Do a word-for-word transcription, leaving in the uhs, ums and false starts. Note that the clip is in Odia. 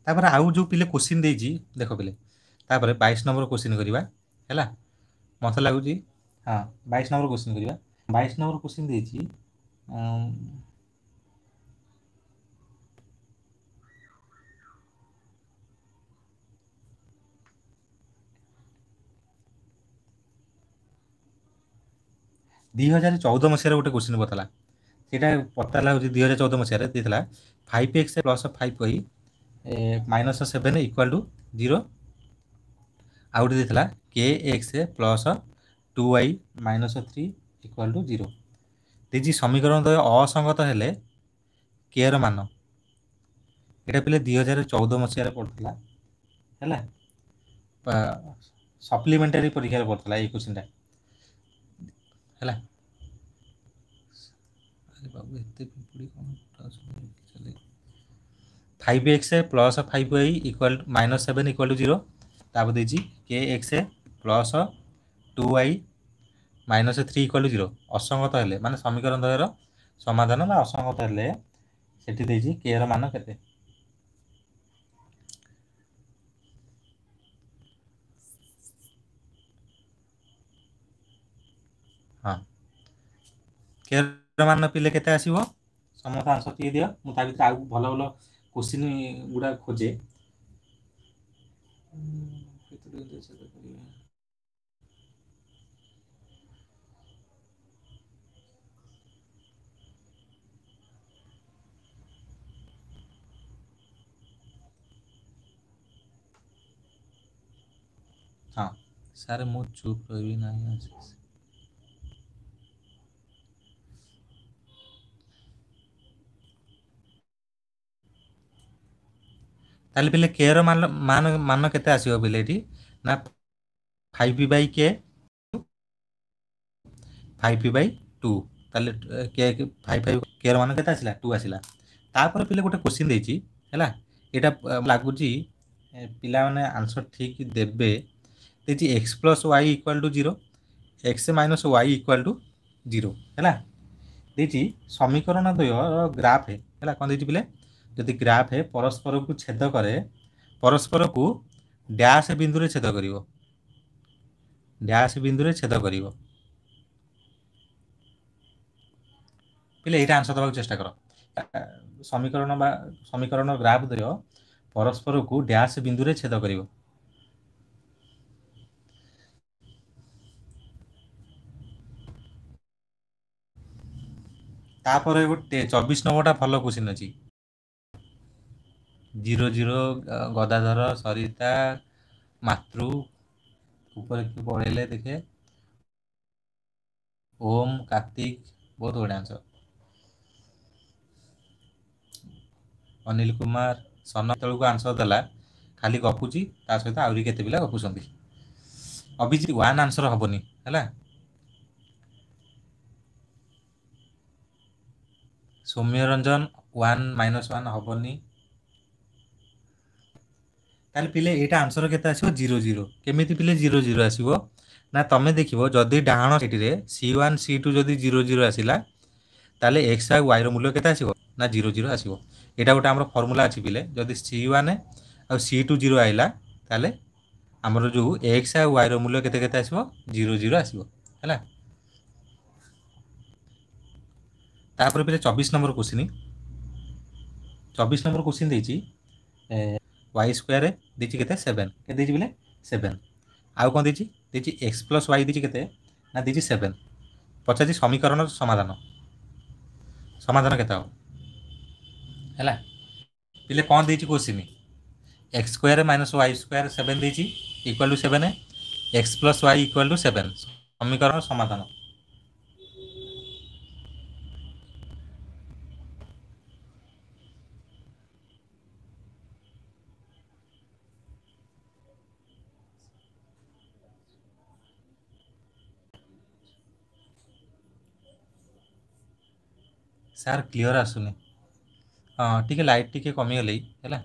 ତାପରେ ଆଉ ଯେଉଁ ପିଲେ କୋଶ୍ଚିନ୍ ଦେଇଛି ଦେଖ ପିଲେ, ତାପରେ ବାଇଶ ନମ୍ବର କୋଶ୍ଚିନ୍ କରିବା ହେଲା। ମୋତେ ଲାଗୁଛି ହଁ ବାଇଶ ନମ୍ବର କୋଶ୍ଚିନ୍ କରିବା। ବାଇଶ ନମ୍ବର କୋଶ୍ଚିନ୍ ଦେଇଛି, ଦୁଇ ହଜାର ଚଉଦ ମସିହାରେ ଗୋଟେ କୋଶ୍ଚିନ୍ ପଚାରିଲା। ସେଇଟା ପଚାରିଲା ହେଉଛି ଦୁଇ ହଜାର ଚଉଦ ମସିହାରେ ଦେଇଥିଲା five x plus five y minus seven equal to zero. ଆଉ ଗୋଟେ ଦେଇଥିଲା k x plus two y minus three equal to zero. ଦେଇଛି ସମୀକରଣ ଦ୍ୱୟ ଅସଙ୍ଗତ ହେଲେ କେ ର ମାନ। ଏଇଟା ପିଲେ ଦୁଇ ହଜାର ଚଉଦ ମସିହାରେ ପଡ଼ିଥିଲା ହେଲା, ସପ୍ଲିମେଣ୍ଟାରୀ ପରୀକ୍ଷାରେ ପଡ଼ିଥିଲା ଏଇ କୋଶ୍ଚିନ୍ଟା ହେଲା। ଆରେ ବାବୁ ଏତେ ପିମ୍ପୁଡ଼ି କ'ଣ five x plus five y equal minus seven equal to zero. ତାପରେ ଦେଇଛି k x plus two y minus three equal to zero. ଅସଙ୍ଗତ ହେଲେ ମାନେ ସମୀକରଣ ଦ୍ୱୟର ସମାଧାନ ବା ଅସଙ୍ଗତ ହେଲେ ସେଠି ଦେଇଛି କେ ର ମାନ କେତେ। ହଁ କେ ର ମାନ ପିଲେ କେତେ ଆସିବ, ସମସ୍ତେ ଆନ୍ସର ଟିକେ ଦିଅ। ମୁଁ ତା ଭିତରେ ଆଉ ଭଲ ଭଲ କୋଶ୍ଚିନ୍ ଗୁଡ଼ା ଖୋଜେ। ହଁ ସାର୍ ମୁଁ ଚୁପ୍ ରହିବି ନାହିଁ। ତାହେଲେ ପିଲେ କେ ର ମାନ ମାନ ମାନ କେତେ ଆସିବ ପିଲେ ଏଠି ନା five by k five by two. ତାହେଲେ କେ ଫାଇଭ୍ ଫାଇଭ୍ କେ ର ମାନ କେତେ ଆସିଲା, ଟୁ ଆସିଲା। ତାପରେ ପିଲେ ଗୋଟେ କୋଶ୍ଚିନ୍ ଦେଇଛି ହେଲା, ଏଇଟା ଲାଗୁଛି ପିଲାମାନେ ଆନ୍ସର ଠିକ୍ ଦେବେ। ଦେଇଛି x plus y equal to zero, x minus y equal to zero ହେଲା। ଦେଇଛି ସମୀକରଣ ଦ୍ୱୟର ଗ୍ରାଫ୍ ହେଲା, କ'ଣ ଦେଇଛି ପିଲେ, ଯଦି ଗ୍ରାଫ୍ ପରସ୍ପରକୁ ଛେଦ କରେ, ପରସ୍ପରକୁ ଡ୍ୟାସ୍ ବିନ୍ଦୁରେ ଛେଦ କରିବ, ଡ୍ୟାସ୍ ବିନ୍ଦୁରେ ଛେଦ କରିବ। ପିଲେ ଏଇଟା ଆନ୍ସର ଦେବାକୁ ଚେଷ୍ଟା କର। ସମୀକରଣ ବା ସମୀକରଣ ଗ୍ରାଫ୍ ଦ୍ୱୟ ପରସ୍ପରକୁ ଡ୍ୟାସ୍ ବିନ୍ଦୁରେ ଛେଦ କରିବ। ତାପରେ ଗୋଟେ ଚବିଶ ନମ୍ବରଟା ଭଲ କୋଶ୍ଚିନ୍ ଅଛି। ଜିରୋ ଜିରୋ ଗଦାଧର ସରିତା ମାତୃ ଉପରେ କିଏ ପଳେଇଲେ ଦେଖେ, ଓମ୍ କାର୍ତ୍ତିକ, ବହୁତ ବଢ଼ିଆ ଆନ୍ସର। ଅନିଲ କୁମାର ସନ ତଳକୁ ଆନ୍ସର ଦେଲା, ଖାଲି ଗପୁଛି, ତା ସହିତ ଆହୁରି କେତେ ପିଲା ଗପୁଛନ୍ତି। ଅଭିଜିତ ୱାନ୍ ଆନ୍ସର ହବନି ହେଲା। Soumya Ranjan one minus one ହବନି। ତାହେଲେ ପିଲେ ଏଇଟା ଆନ୍ସର କେତେ ଆସିବ, ଜିରୋ ଜିରୋ। କେମିତି ପିଲେ ଜିରୋ ଜିରୋ ଆସିବ ନା ତମେ ଦେଖିବ ଯଦି ଡାହାଣ ସାଇଡ଼ରେ ସି ୱାନ୍ ସି ଟୁ ଯଦି ଜିରୋ ଜିରୋ ଆସିଲା ତାହେଲେ ଏକ୍ସ ଆଉ ୱାଇର ମୂଲ୍ୟ କେତେ ଆସିବ ନା ଜିରୋ ଜିରୋ ଆସିବ। ଏଇଟା ଗୋଟେ ଆମର ଫର୍ମୁଲା ଅଛି ପିଲେ, ଯଦି ସି ୱାନ୍ ଆଉ ସି ଟୁ ଜିରୋ ଆଇଲା ତାହେଲେ ଆମର ଯେଉଁ ଏକ୍ସ ଆଉ ୱାଇର ମୂଲ୍ୟ କେତେ କେତେ ଆସିବ, ଜିରୋ ଜିରୋ ଆସିବ ହେଲା। ତାପରେ ପିଲେ ଚବିଶ ନମ୍ବର କୋଶ୍ଚିନ୍, ଚବିଶ ନମ୍ବର କୋଶ୍ଚିନ୍ ଦେଇଛି ୱାଇ ସ୍କୋୟାର ଦେଇଛି କେତେ ସେଭେନ୍, କେତେ ଦେଇଛି ପିଲେ ସେଭେନ୍। ଆଉ କ'ଣ ଦେଇଛି, ଦେଇଛି ଏକ୍ସ ପ୍ଲସ୍ ୱାଇ ଦେଇଛି କେତେ ନା ଦେଇଛି ସେଭେନ୍। ପଚାରିଛି ସମୀକରଣର ସମାଧାନ, ସମାଧାନ କେତେ ହେବ ହେଲା। ପିଲେ କ'ଣ ଦେଇଛି question, x square minus y square seven ଦେଇଛି equal to seven, x plus y equal to seven, ସମୀକରଣ ସମାଧାନ। ସାର୍ କ୍ଲିଅର୍ ଆସୁନି, ହଁ ଟିକେ ଲାଇଟ୍ ଟିକେ କମିଗଲେ ହେଲା।